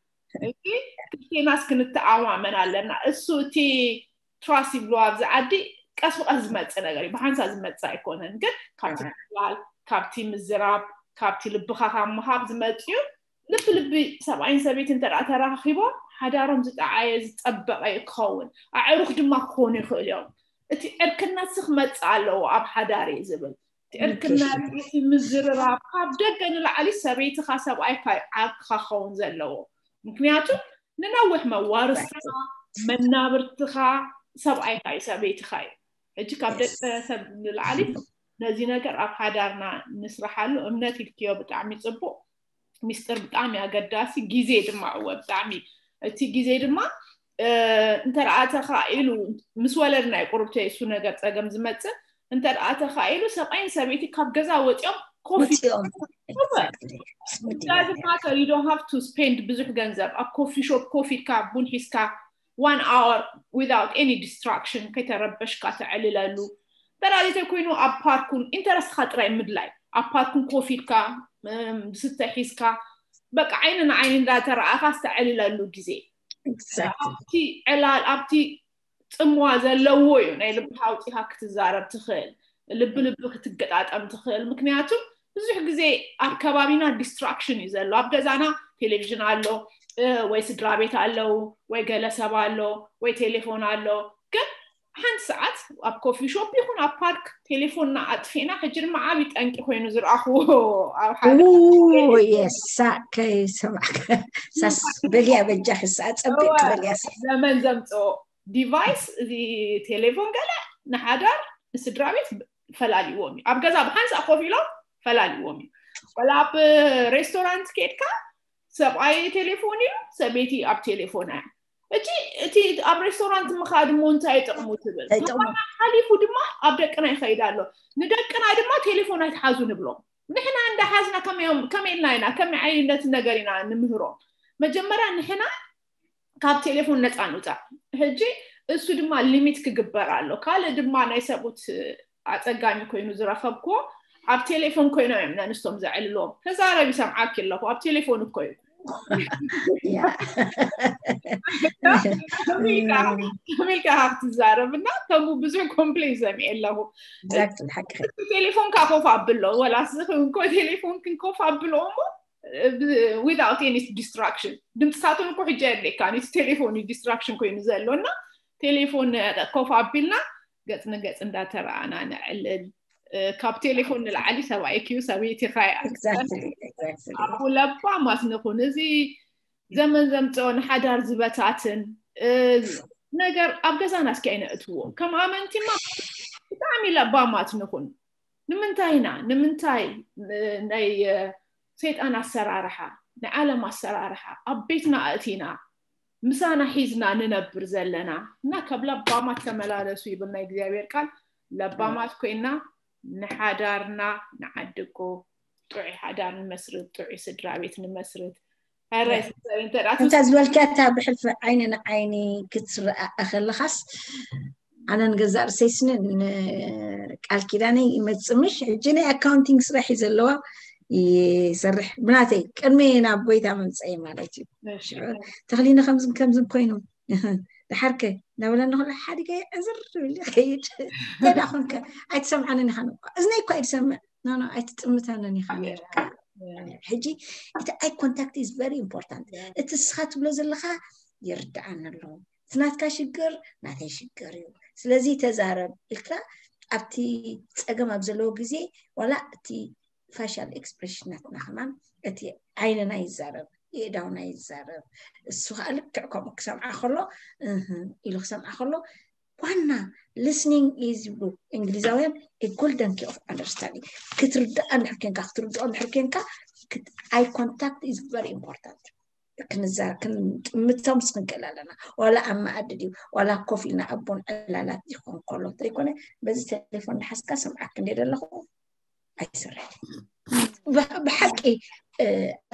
እዚ ክልቴናስ ክንተኣማመን ኣለና። እሱ እቲ ትራስት ይብልዋ ኣብዚ ዓዲ ቀስ ብቀስ ዝመፅእ ነገር እዩ። ብሓንሳ ዝመፅእ ኣይኮነን፣ ግን ካብቲ ምትላል፣ ካብቲ ምዝራብ፣ ካብቲ ልብኻ ካብ ምሃብ ዝመፅእ እዩ። ልቢ ልቢ ሰብኣይን ሰበይቲ እንተ ደኣ ተራኺቦም ሓዳሮም ዝጠዓየ ዝፀበቐ ክኸውን፣ ኣዕሩኽ ድማ ክኾኑ ይኽእሉ እዮም። እቲ ዕርክነት ሲ ክመፅእ ኣለዎ ኣብ ሓዳር እዩ ዝብል። እቲ ዕርክነት፣ እቲ ምዝርራብ ካብ ደገ ንላዕሊ ሰበይትኻ ሰብኣይካ እዩ ዓርክኻ ክኸውን ዘለዎ። ምክንያቱ ንነዊሕ መዋርስካ መናብርትኻ ሰብኣይካ እዩ ሰበይትኻ እዩ። ሕጂ ካብ ደቂ ሰብ ንላዕሊ ነዚ ነገር ኣብ ሓዳርና ንስራሓሉ። እምነት ኢልክዮ ብጣዕሚ ፅቡቅ፣ ሚስጥር ብጣዕሚ ኣገዳሲ፣ ግዜ ድማ እወ ብጣዕሚ። እቲ ግዜ ድማ እ፣ እንተ ደኣ ተኻኢሉ ምስ ወለድና እዩ ቁርብተይ እሱ ነገር ፀገም ዝመፅእ። እንተ ደኣ ተኻኢሉ ሰብኣይን ሰበይቲ ካብ ገዛ ወፂኦም ኮፊ ወፂኦም። Exactly. It doesn't matter, you don't have to spend ብዙሕ ገንዘብ ኣብ ኮፊ ሾፕ ኮፍ ኢልካ ቡን ሒዝካ one hour without any distraction ከይተረበሽካ ተዕልለሉ። ተራዚተ ኮይኑ ኣብ ፓርኩን ኢንተረስትካ ጥራይ ምድላይ፣ ኣብ ፓርኩን ኮፍ ኢልካ እም፣ ዝስተ ሒዝካ በቃ ዓይኒ ንዓይኒ እንዳተረኣኻ ዝተዕልለሉ ግዜ። Exactly. ኣብቲ ዕላል ኣብቲ ፅምዋ ዘለዎ እዩ ናይ ልብኻ ኣውፂኻ ክትዛረብ ትኽእል፣ ልቢ ልቢ ክትገጣጠም ትኽእል። ምክንያቱ ብዙሕ ግዜ ኣብ ከባቢና ዲስትራክሽን እዩ ዘሎ። ኣብ ገዛና ቴሌቪዥን ኣሎ እ፣ ወይ ስድራ ቤት ኣለዉ ወይ ገለ ሰብ ኣሎ ወይ ቴሌፎን ኣሎ። ግን ሓንቲ ሰዓት ኣብ ኮፊ ሾፕ ይኹን ኣብ ፓርክ ቴሌፎንና ኣጥፊእና፣ ሕጂ ድማ ዓብዪ ጠንቂ ኮይኑ ዝረኣኽዎ ኣብ ሓደ የሳ ከይሰማዕ ሳስ በልያ በጃ ክሳ ፀብቅ በልያ ዘመን ዘምፅኦ ዲቫይስ እዚ ቴሌፎን ገለ ንሓዳር ንስድራ ቤት ፈላልዎም እዩ። ኣብ ገዛ ብሓንሳእ ኮፍ ኢሎም ፈላልዎም እዩ። ወላ ኣብ ሬስቶራንት ከድካ ሰብኣይ ቴሌፎን እዩ፣ ሰበይቲ ኣብ ቴሌፎን እያ። እቲ እቲ ኣብ ሬስቶራንት ምኻድ እሞ እንታይ ጥቕሙ ትብል። እንታይ ጥቕሙ? ሓሊፉ ድማ ኣብ ደቅና ይኸይድ ኣሎ። ንደቅና ድማ ቴሌፎን ኣይትሓዙ ንብሎም። ንሕና እንዳሓዝና ከመይ ኢልና ኢና ከመይ ዓይነት ነገር ኢና ንምህሮም? መጀመርያ ንሕና ካብ ቴሌፎን ነፃ ንውፃእ። ሕጂ እሱ ድማ ሊሚት ክግበር ኣሎ። ካልእ ድማ ናይ ሰብኡት ኣፀጋሚ ኮይኑ ዝረኸብክዎ ኣብ ቴሌፎን ኮይኖም እዮም ነንስቶም ዘዕልልዎም። ተዛረቢ ሰምዓኪ ኣለኹ ኣብ ቴሌፎን እኮ እዩ። ከመይ ኢልካ ክትዛረብ እና ከምኡ ብዙሕ ኮምፕሌን ሰሚዐ ኣለኹ። ቴሌፎንካ ኮፍ ኣብሎ ወላ ስኺ እንኮ ቴሌፎንክን ኮፍ ኣብሎ እሞ without any distraction። ድምፅሳቶም እኮ ሕጂ የድልየካ፣ እቲ ቴሌፎን እዩ distraction ኮይኑ ዘሎ። እና ቴሌፎን ኮፍ ኣቢልና ገፅ ንገፅ እንዳተረኣና ነዕልል። ካብ ቴሌፎን ንላዕሊ ሰብኣይኪ እዩ፣ ሰበይቲኻ እያ። ኣቡ ለባማት ንኹን። እዚ ዘመን ዘምፅኦ ንሓዳር ዝበታትን ነገር ኣብ ገዛና እስኪ ኣይነእትዎ። ከም ኣመንቲማ ብጣዕሚ ለባማት ንኹን። ንምንታይ ኢና ንምንታይ ናይ ሰይጣን ኣሰራርሓ፣ ናይ ዓለም ኣሰራርሓ ኣብ ቤትና ኣእቲና ምሳና ሒዝና ንነብር ዘለና? እና ካብ ለባማት ተመላለሱ ይብል ናይ እግዚኣብሔር ቃል። ለባማት ኮይና ንሓዳርና ንዓድጎ፣ ጥዑይ ሓዳር ንመስርት፣ ጥዑይ ስድራ ቤት ንመስርት። እንተ ዝበልካታ ብሕልፊ ዓይኒ ንዓይኒ ክትረኣ ከለኻስ፣ ኣነ ንገዛእ ርእሰይስኒ ቃል ኪዳነይ ይመፅእ ምሽ። ሕጂ ናይ ኣካውንቲንግ ስራሕ እዩ ዘለዋ፣ ይሰርሕ ብናተይ ቅድሚ ናብ ጎይታ መምፀኢ ማለት እዩ። ተኽሊኒ ከምዝን ከምዝን ኮይኑ ድሓርከ እናበለኒ ከሎ ሓዲገ ዕዝር ብል ይኸይድ። እንታይ ደኣ ኮንከ? ኣይትሰምዓንን ኢኻ። እዝነይ እኳ ኣይትሰምዕ። ኖ ኖ ኣይትጥምተንን ኢኻ። ሕጂ እቲ ኣይ ኮንታክት ኢዝ ቨሪ ኢምፖርታንት። እቲ እስኻ ትብሎ ዘለኻ ይርድኣኒ ኣለዎ። እቲ ናትካ ሽግር ናተይ ሽግር እዩ። ስለዚ ተዛረብ ኢልካ ኣብቲ ፀገም ኣብ ዘለዎ ግዜ ዋላ እቲ ፋሻል ኤክስፕሬሽናትና ከማን እቲ ዓይንና ይዛረብ፣ የእዳውና ይዛረብ። እሱ ከዓ ልክዕ ከምኡ ክሰምዓ ከሎ ኢሉ ክሰምዓ ከሎ ዋና listening is ይብሉ እንግሊዛውያን a golden key of understanding። ክትርዳእ እንድሕር ኬንካ ክትርድኦ እንድሕር ኬንካ ኣይ ኮንታክት is very important። ክንጥምቶም ምስ ክንክእል ኣለና። ዋላ ኣብ መኣዲ ድዩ ዋላ ኮፍ ኢልና ኣቦን ዕላላት ይኾን ከሎ ዘይኮነ በዚ ቴሌፎን ንሓስካ ሰምዓክ እንደ ዘለኹ ኣይስራሕ። ብሓቂ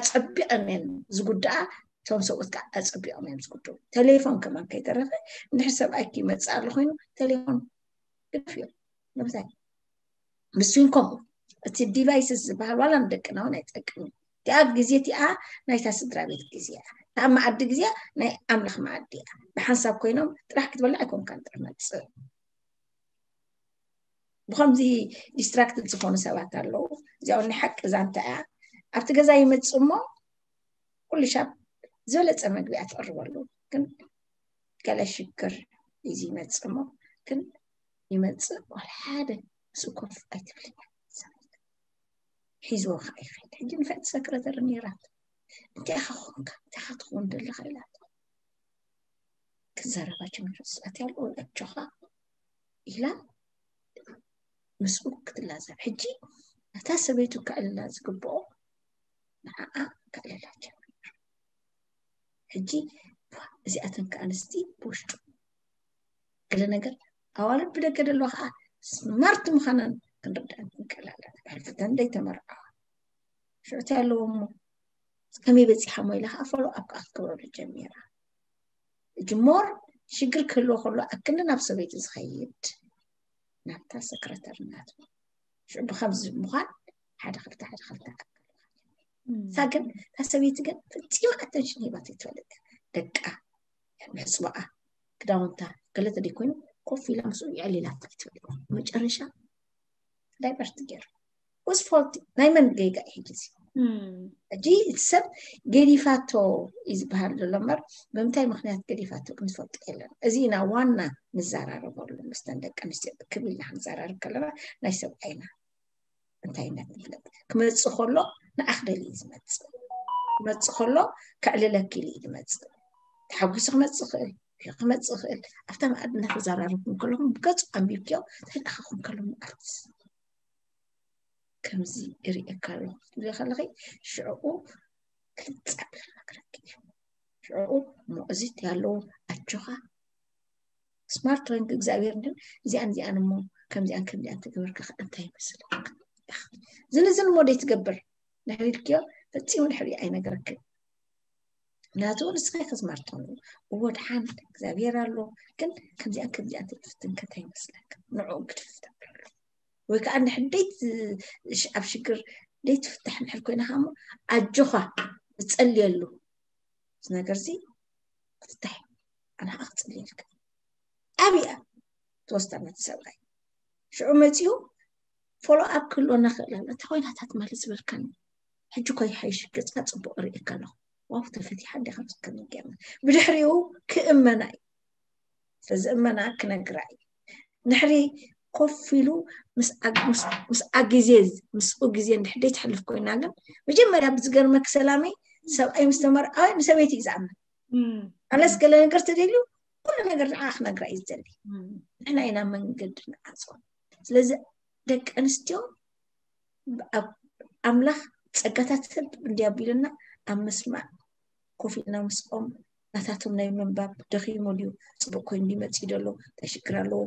ኣፀቢቐን እየን ዝጉዳኣ። እቶም ሰብኡት ከዓ ኣፀቢቖም እዮም ዝጉድኡ። ቴሌፎን ከማን ከይተረፈ እንድሕር ሰብኣይኪ ይመፅእ ኣሎ ኮይኑ ቴሌፎን ግደፍዮ። ንምንታይ? ብስዊን ከምኡ እቲ ዲቫይስስ ዝበሃል ዋላ ንደቅና እውን ኣይጠቅም እዩ። እቲኣ ግዜ እቲኣ ናይታ ስድራ ቤት ግዜ እያ። እታ መኣዲ ግዜ ናይ ኣምላኽ መኣዲ እያ። ብሓንሳብ ኮይኖም ጥራሕ ክትበልዕ ኣይኮንካን ጥራሕ መፅእ። ብኸምዚ ዲስትራክትድ ዝኾኑ ሰባት ኣለዉ። እዚኣ ናይ ሓቂ ዛንታ እያ። ኣብቲ ገዛ ይመፅእ እሞ ኩሉ ሻብ ዝበለፀ መግቢ እያ ትቕርበሉ። ግን ገለ ሽግር እዚ ይመፅእ እሞ ግን ይመፅእ ዋላ ሓደ ምስ ኮፍ ኣይትብልን እያ። ሒዝዎ ከዓ ይኸይድ። ሕጂ ንፍዕቲ ሰክረተር ነይራት እንታይ ኢኻ ኾንካ እንታይ ኢኻ ትኸውን ዘለኻ ኢላቶ ክዛረባ ጀሚሩ። ስኣት ያለው ኣጆኻ ኢላ ምስኡ ክትላዘብ። ሕጂ ነታ ሰበይቱ ከዕልላ ዝግብኦ ንዓኣ ከዕልላ ጀሚሩ። ሕጂ እዚኣተን ከኣንስቲ ብውሽጡ ገለ ነገር ኣዋልድ ብደገ ደለዋ ከዓ ስማርት ምዃነን ክንርዳእ ክንክእል ኣለና። ብሕልፍተን ደይተመርዓዋ ሽዑቲ ኣለዎ እሞ ከመይ በፂሓ ሞ ኢላ ከዓ ፎሎ ኣፕ ከዓ ክትገብረሉ ጀሚራ። ሕጂ ሞር ሽግር ክህልዎ ከሎ ኣክንዲ ናብ ሰበይቲ ዝኸይድ ናብታ ሰክረተር ናቱ ሽዑ ብከምዚ ምዃን ሓደ ክልተ ሓደ ክልተ እሳ ግን እታ ሰበይቲ ግን ፈፂማ ኣተንሽን ሂባት ይትፈልጥ ደቃ ምሕፅባኣ ክዳውንታ ገለ ተደይኮይኑ ኮፍ ኢላ ምስኡ የዕሊላት ይትፈልጥ መጨረሻ ዳይቨርት ገይሩ ውስ ፎልቲ ናይ መን ገይጋ እዩ ሕጂ እዚ ሕጂ እቲ ሰብ ገዲፋቶ እዩ ዝበሃል ዘሎ እምበር ብምንታይ ምክንያት ገዲፋቶ ክንፈልጦ የለን እዚ ኢና ዋና ንዘራረበሉ ምስተን ደቂ ኣንስትዮ ክብ ኢልና ክንዘራርብ ከለና ናይ ሰብኣይና እንታይነት ንፍለጥ ክመፅእ ከሎ ንኣኽደል እዩ ዝመፅእ ክመፅእ ከሎ ከዕልለኪ ኢሉ እዩ ዝመፅእ ተሓጒሱ ክመፅእ ይኽእል ክመፅእ ይኽእል ኣብታ መኣዲ እናተዘራረብኩም ከለኹም ብገፁ ኣንቢብክዮ እንታይ ደኣ ክኸውን ከሎ ምኣርትስ ከምዚ እርእየካ ኣለኹ ክትብሊ ከለኺ ሽዕኡ ክልፅ ኣቢሉ ክነግረኪ እዩ ሽዕኡ እሞ እዚ ያለው ኣጆኻ ስማርት ኮይንክ እግዚኣብሔር ግን እዚኣን እዚኣን እሞ ከምዚኣን ከምዚኣን ተገበርካ ከ እንታይ ይመስለካ ዝንዝን እሞ ደይ ትገብር ንሕሪድክዮ ፈፂሙ ንሕሪ ኣይነገረክን ምክንያቱ ንስኻ ኢኻ ስማርት ትኾን እዎ ድሓን እግዚኣብሔር ኣሎ ግን ከምዚኣን ከምዚኣን ተይትፍትን ከ እንታይ ይመስለካ ንዕኡ ግድፍ ተብለሉ ወይ ከዓ እንድሕር ደይት ኣብ ሽግር ደይትፍታሕ እንድሕር ኮይና ከዓ ኣጆኻ ዝፀልየሉ እዚ ነገር እዚ ክትታይ ኣነ ከዓ ክፅልየልካ ኣብያ ተወስዳ ነቲ ሰብኣይ ሽዑ መፂኡ ፎሎ ኣፕ ክህልወና ክእል ኣሎ እንታይ ኮይናታት ማለት ዝበልካኒ ሕጂ እኮ ይሓይሽ፣ ገፅካ ፅቡቕ ርእየካ ኣለኹ። ዋው፣ ተፈቲሓ እንዲኻ ክትከምን ገይርና። ብድሕሪኡ ክእመና እዩ። ስለዚ እመና ክነግራ እዩ። ንሕሪ ኮፍ ኢሉ ምስኣ ግዜ ምስኡ ግዜ እንድሕደይ ትሕልፍ ኮይና፣ ግን መጀመርያ ብዝገርመክ ሰላመይ፣ ሰብኣይ ምስ ተመርዓወ ንሰበይቲ እዩ ዝኣምን። ኣነስ ገለ ነገር ተደልዩ ኩሉ ነገር ንዓ ክነግራ እዩ ዝደሊ። ንሕና ኢና መንገዲ ንዓፅዎ። ስለዚ ደቂ ኣንስትዮ ኣብ ኣምላኽ ጸጋታት ሰብ እንዲያ ኣቢሉና ኣብ ምስማዕ ኮፍ ኢልና ምስኦም ናታቶም ናይ ምንባብ ደኺሙ ድዩ፣ ጽቡቕ ኮይኑ ድዩ መጺኡ ደሎ፣ እንታይ ሽግር ኣለዎ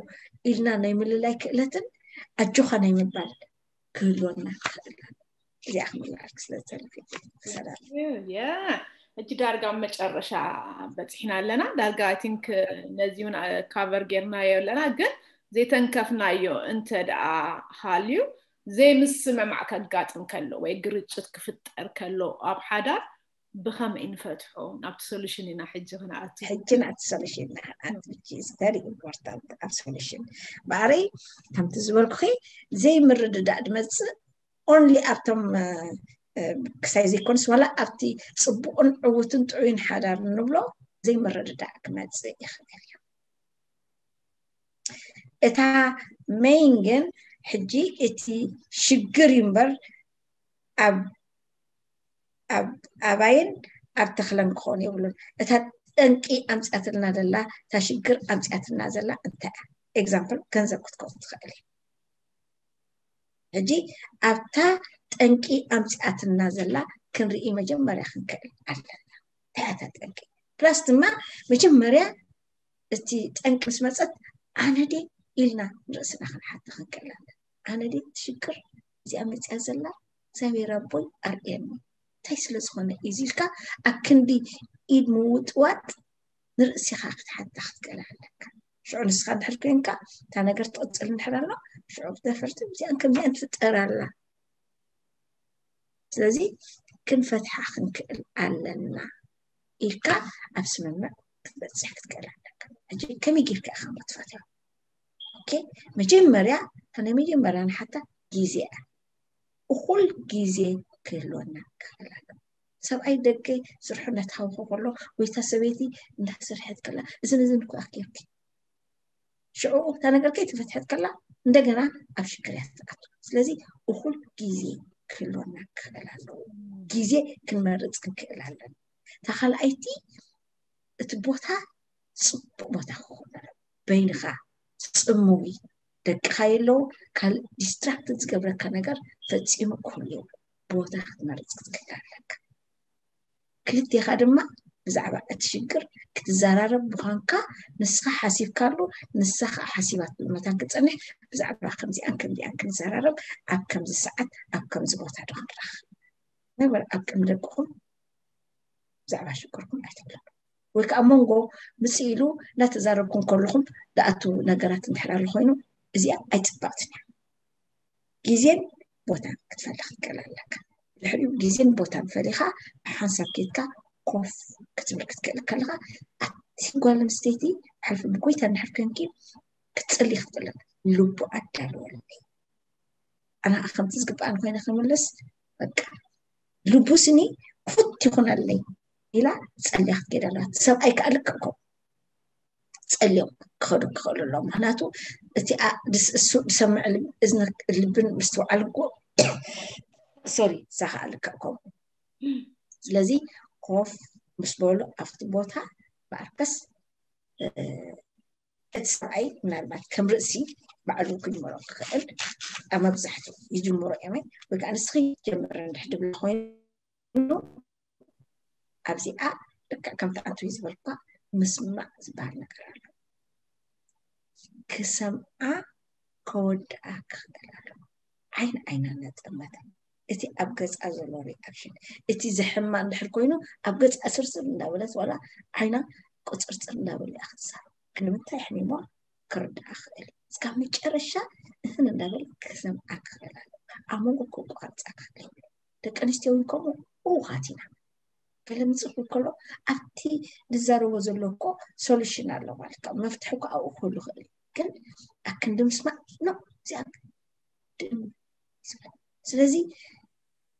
ኢልና ናይ ምልላይ ክእለትን ኣጆኻ ናይ ምባል ክህልወና ክኽእል ኣሎ። እዚኣ ክምልኣልክ ስለ ዝደለኹ። ሰላም። ያ፣ ሕጂ ዳርጋ ኣብ መጨረሻ በፂሕና ኣለና። ዳርጋ I think ነዚ እውን ካቨር ጌርናዮ ኣለና፣ ግን ዘይተንከፍናዮ እንተ ደኣ ሃልዩ ዘይምስምማዕ ከጋጥም ከሎ ወይ ግርጭት ክፍጠር ከሎ ኣብ ሓዳር ብኸመይ ንፈትሖ? ናብቲ ሶሉሽን ኢና ሕጂ ክንኣቱ። ሕጂ ናብቲ ሶሉሽን ኢና ክንኣቱ። Which is very important ኣብ ሶሉሽን። በኣረይ ከምቲ ዝበልኩኺ ዘይምርድዳእ ድመፅእ only ኣብቶም ክሳይ ዘይኮንስ ዋላ ኣብቲ ፅቡቕን ዕውትን ጥዑይን ሓዳር እንብሎ ዘይምርድዳእ ክመፅእ ይኽእል እዩ። እታ ሜይን ግን ሕጂ እቲ ሽግር እዩ እምበር ኣብ ኣብ ኣባይን ኣብ ተኽለን ክኾን የብሉን። እታ ጠንቂ ኣምፅኣትልና ዘላ እታ ሽግር ኣምፅኣትልና ዘላ እንታይ እያ? ኤግዛምፕል ገንዘብ ክትከውን ትኽእል እዩ። ሕጂ ኣብታ ጠንቂ ኣምፅኣትና ዘላ ክንርኢ መጀመርያ ክንክእል ኣለና። እንታይ እያ እታ ጠንቂ? ፕላስ ድማ መጀመርያ እቲ ጠንቂ ምስ መፀት ኣነ ድየ ኢልና ንርእስና ክንሓተ ክንክእል ኣለና። ኣነ ድየ እቲ ሽግር እዚኣ መፅያ ዘላ እግዚኣብሔር ኣቦይ ኣርእየኒ እንታይ ስለ ዝኾነ እዩ ኢልካ ኣብ ክንዲ ኢድ ምውጥዋጥ ንርእስኻ ክትሓታ ክትክእል ኣለካ። ሽዑ ንስኻ እንድሕር ኮይንካ እታ ነገር ትቕፅል እንድሕር ኣሎ ሽዑ ብተፈርቲ እዚኣን ከምዚኣን ትፍጠር ኣላ። ስለዚ ክንፈትሓ ክንክእል ኣለና ኢልካ ኣብ ስምምዕ ክትበፅሕ ክትክእል ኣለካ። ሕጂ ከመይ ጌርካ ኢኻ እሞ ትፈትሖ? ኦኬ፣ መጀመርያ እታ ናይ መጀመርያ ንሓታ ግዜ እያ። እኹል ግዜ ክህልወና ክኽእል ኣለዎ። ሰብኣይ ደገ ስርሑ እናተሃወኸ ከሎ ወይ እታ ሰበይቲ እንዳሰርሐት ከላ እዝን እዝን እኮ ኣኪርኪ ሽዑ እታ ነገር ከይተፈትሐት ከላ እንደገና ኣብ ሽግር እያ ትኣቱ። ስለዚ እኹል ግዜ ክህልወና ክኽእል ኣለዎ። ግዜ ክንመርፅ ክንክእል ኣለና። እታ ካልኣይቲ እቲ ቦታ ፅቡቅ ቦታ ክኾን ኣለዎ። በይንኻ ፅምዊ ደቅኻ የለው ካልእ ዲስትራክት ዝገብረካ ነገር ፈፂሙ ክህሉ የብሉ። ቦታ ክትመርፅ ክትክእል ኣለካ። ክልቴኻ ድማ ብዛዕባ እቲ ሽግር ክትዘራረብ ምዃንካ ንስኻ ሓሲብካሉ ንሳ ከዓ ሓሲባትሉ መታን ክትፀንሕ ብዛዕባ ከምዚኣን ከምዚኣን ክንዘራረብ ኣብ ከምዚ ሰዓት ኣብ ከምዚ ቦታ ዶ ክንራኸብ ነበር ኣብ ቅድሚ ደቅኹም ብዛዕባ ሽግርኩም ኣይትብለሉ። ወይ ከዓ መንጎ ምፅእ ኢሉ እናተዛረብኩም ከለኹም ዝኣቱ ነገራት እንድሕር ኣሎ ኮይኑ እዚኣ ኣይፅብቕትን እያ። ግዜን ቦታን ክትፈልኽ ትክእል ኣለካ። ድሕሪኡ ግዜን ቦታን ፈሊኻ ብሓንሳብ ኬድካ ኮፍ ክትብል ክትክእል ከለኻ ኣቲ ጓል ኣንስተይቲ ሕልፊ ብጎይታ እንድሕር ኮንኪ ክትፅሊ ክትክእል ልቡ ኣዳልወለይ ኣነ ከምቲ ዝግባኣን ኮይነ ክምልስ በቃ ልቡስኒ ክፉት ይኹነለይ ኢላ ጸልያ ክትከይድ ኣለዋ። ሰብኣይ ከዓ ልክዕ ከምኡ ጸልዮም ክኸዱ ክኽእሉ ኣለዎም። ምክንያቱ እቲ እሱ ዝሰምዕ እዝኒ ልብን ምስትውዓል እኮ ሶሪ እሳ ከዓ ልክዕ ከምኡ። ስለዚ ኮፍ ምስ በሉ ኣብቲ ቦታ ብኣርከስ እቲ ሰብኣይ ምናልባት ከም ርእሲ ባዕሉ ክጅምሮ ክኽእል ኣብ መብዛሕትኡ ይጅምሮ እዮም ወይ ከዓ ንስኺ ጀምር እንድሕ ድብል ኮይኑ ኣብዚኣ ልክዕ ከምቲ ኣንቱ ዝበልኳ ምስማዕ ዝበሃል ነገር ኣሎ ክሰምዓ ከወድኣ ክኽእል ኣለዎ ዓይን ዓይና እናጠመተ እቲ ኣብ ገፃ ዘሎ ሪኣክሽን እቲ ዘሕማ እንድሕር ኮይኑ ኣብ ገፃ ስርስር እንዳበለት ዋላ ዓይና ቁፅርፅር እንዳበለ እያ ክትዛረብ ንምንታይ ኣሕሚሞ ክርዳእ ክእል እስካብ መጨረሻ እህን እንዳበለ ክሰምዓ ክኽእል ኣለዎ ኣብ መንጎ ከቋርፃ ክኽእል ደቂ ኣንስትዮ እውን ከምኡ እውኻት ኢና ገለ ምፅእ ከሎ ኣብቲ ንዛረቦ ዘሎ እኮ ሶሉሽን ኣሎ ማለት ካብ መፍትሒ እኮ ኣብኡ ክህሉ ይኽእል ግን ኣክንዲ ምስማዕ ኖ እዚኣ ስለዚ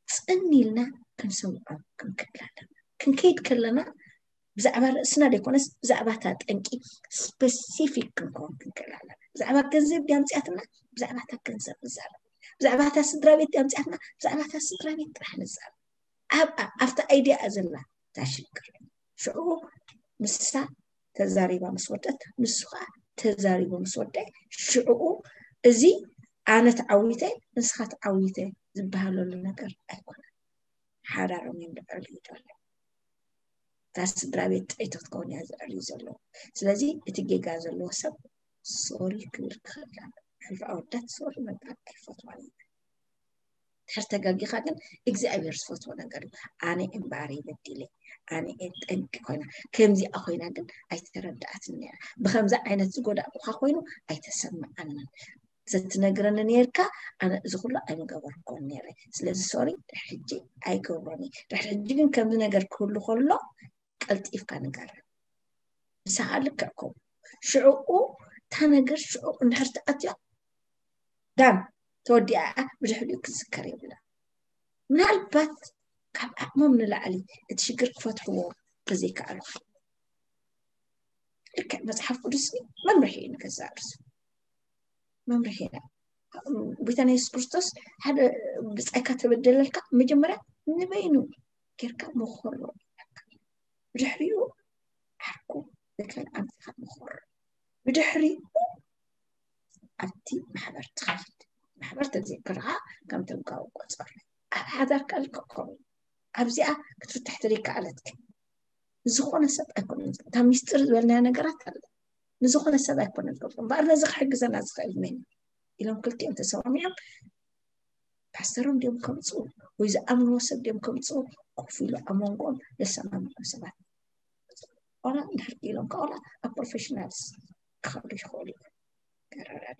ጽን ኢልና ክንሰምዖም ክንክእል ኣለና። ክንከይድ ከለና ብዛዕባ ርእስና ዘይኮነስ ብዛዕባ እታ ጠንቂ ስፐሲፊክ ክንከውን ክንክእል ኣለና። ብዛዕባ ገንዘብ ድያ ኣምፅኣትና፣ ብዛዕባ እታ ገንዘብ ንዛረብ። ብዛዕባ እታ ስድራ ቤት ድያ ኣምፅኣትና፣ ብዛዕባ እታ ስድራ ቤት ጥራሕ ንዛረብ። ኣብ ኣብታ ኣይድያ ዘላ እታ ሽግር። ሽዑ ንሳ ተዛሪባ ምስ ወደት፣ ንሱ ከዓ ተዛሪቡ ምስ ወደ፣ ሽዑ እዚ ኣነ ተዓዊተ ንስኻ ተዓዊተ ዝበሃለሉ ነገር ኣይኮነን። ሓዳሮም እዮም ዘዕርዩ ዘለዉ። እታ ስድራ ቤት ጥዕይቲ ክትከውን እያ ዘዕርዩ ዘለዉ። ስለዚ እቲ ጌጋ ዘለዎ ሰብ ሶሪ ክብል ክኽእል ኣሎ። ሕልፊ ኣወዳት ሶሪ ምባል ኣይፈትዋን እየ። ድሕር ተጋጊኻ ግን እግዚኣብሔር ዝፈትዎ ነገር እዩ። ኣነ እምበኣር በዲለ፣ ኣነ እየ ጠንቂ ኮይና፣ ከምዚኣ ኮይና ግን ኣይተረድኣትን ነይራ። ብከምዚ ዓይነት ዝጎዳእኩኻ ኮይኑ ኣይተሰምዓንን። ዘትነግረኒ ነርካ፣ ኣነ እዚ ኩሉ ኣይምገበርኮን ነይረ። ስለዚ ሶሪ፣ ድሕር ሕጂ ኣይገብሮን እየ። ድሕር ሕጂ ግን ከምዚ ነገር ክህሉ ከሎ ቀልጢፍካ ንገረን። ንስኻ ልክዕ ከምኡ። ሽዕኡ እታ ነገር ሽዑ እንድሕር ትኣትዮ ዳን ተወዲኣ እያ፣ ብድሕሪኡ ክዝከር የብላ። ምናልባት ካብ ዓቕሞም ንላዕሊ እቲ ሽግር ክፈትሕዎ ተዘይከኣሉ ልክዕ መፅሓፍ ቅዱስ መምርሒ እዩ ንገዛእ ርእሱ። መምርሒ ኢና። ጎይታና የሱስ ክርስቶስ ሓደ ብጻይካ ተበደለልካ መጀመርያ ንበይኑ ጌርካ መኸሮ። ብድሕሪኡ ዓርኩ ብከልኣምትኻ መኸሮ። ብድሕሪኡ ኣብቲ ማሕበር ትኸይድ። ማሕበር ተዘይክርኻ ከም ተጋዊ ቆጸር። ኣብ ሓዳርካ ልክዕ ከምኡ። ኣብዚኣ ክትፍትሕ ተዘይከኣለትክ ንዝኾነ ሰብ ኣይኮነን። እታ ሚስጥር ዝበልናዮ ነገራት ኣለ። ንዝኾነ ሰብ ኣይኮነን ዝገልጾ። እምበኣር ነዚ ክሕግዘና ዝኽእል መን እዩ? ኢሎም ክልቲኦም ተሰማሚዖም ፓስተሮም ድዮም ከምፅኡ ወይ ዝኣምንዎ ሰብ ድዮም ከምፅኡ ኮፍ ኢሉ ኣብ መንጎኦም ዘሰማምዖም ሰባት ቆላ እንድሕር ኢሎም ከቆላ ኣብ ፕሮፌሽናልስ ክኸዱ ይኽእሉ እዮም። ተረዳዲ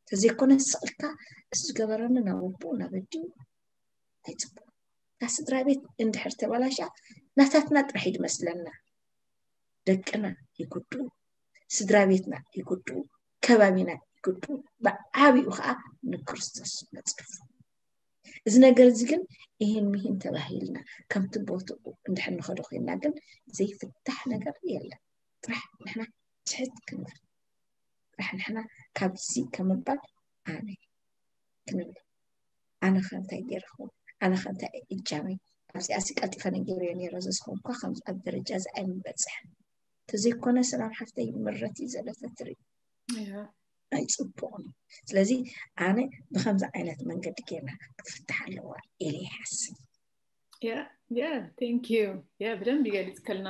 ተዘይኮነ ስቕልካ እሱ ዝገበረኒ ናብ ኣቦኡ ናብ ኣዲኡ ኣይፅቡቅ። እታ ስድራ ቤት እንድሕር ተበላሻ ናታትና ጥራሕ እዩ ዝመስለና። ደቅና ይጉድኡ፣ ስድራ ቤትና ይጉድኡ፣ ከባቢና ይጉድኡ፣ ብዓብኡ ከዓ ንክርስቶስ ነፅርፉ። እዚ ነገር እዚ ግን ይህን ሚህን ተባሂልና ከምቲ ቦትኡ እንድሕር ንኸዶ ኮይንና ግን ዘይፍታሕ ነገር የለን። ጥራሕ ንሕና ትሕት ክንብል ጥራሕ ንሕና ካብዚ ከምባል ኣነ ክንብል ኣነ ከ እንታይ ገይረ ክኸውን ኣነ ከ እንታይ እጃመይ ኣብዚኣ ሲ ቀልጢፈ ነጊረዮ ነይረ ዘዝኸውን እኳ ከምዚ ኣብ ደረጃ እዚ ኣይምበፅሕን ተዘይኮነ ሰላም ሓፍተይ ምረት እዩ ዘለፈ ትርኢ ኣይፅቡቕን እዩ ስለዚ ኣነ ብከምዚ ዓይነት መንገዲ ጌርና ክትፍታሕ ኣለዋ ኢለ ይሓስብ Yeah, yeah, thank you. Yeah, ብደንብ ይገልጽክልና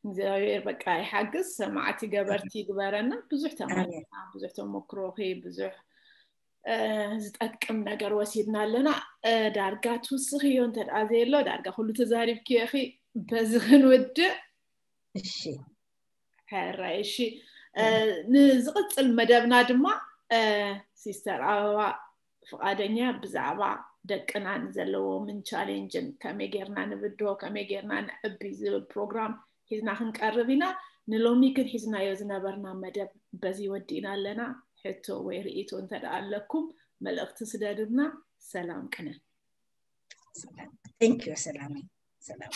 እግዚኣብሔር በቃ ይሓግዝ ሰማዕቲ ገበርቲ ይግበረና ብዙሕ ተማርና ብዙሕ ተመክሮኺ ብዙሕ ዝጠቅም ነገር ወሲድና ኣለና ዳርጋ ትውስኽዮ እንተ ደኣ ዘየሎ ዳርጋ ኩሉ ተዛሪብክዮ ኢኺ በዚ ክንውድእ እሺ ሕራይ እሺ ንዝቕፅል መደብና ድማ ሲስተር ኣበባ ፍቓደኛ ብዛዕባ ደቅና ንዘለዎምን ቻሌንጅን ከመይ ጌርና ንብድሆ ከመይ ጌርና ንዕቢ ዝብል ፕሮግራም ሒዝና ክንቀርብ ኢና ንሎሚ ግን ሒዝናዮ ዝነበርና መደብ በዚ ወዲእና ኣለና ሕቶ ወይ ርእይቶ እንተ ኣለኩም መልእኽቲ ስደዱልና ሰላም ቅነ Thank you ሰላም ሰላም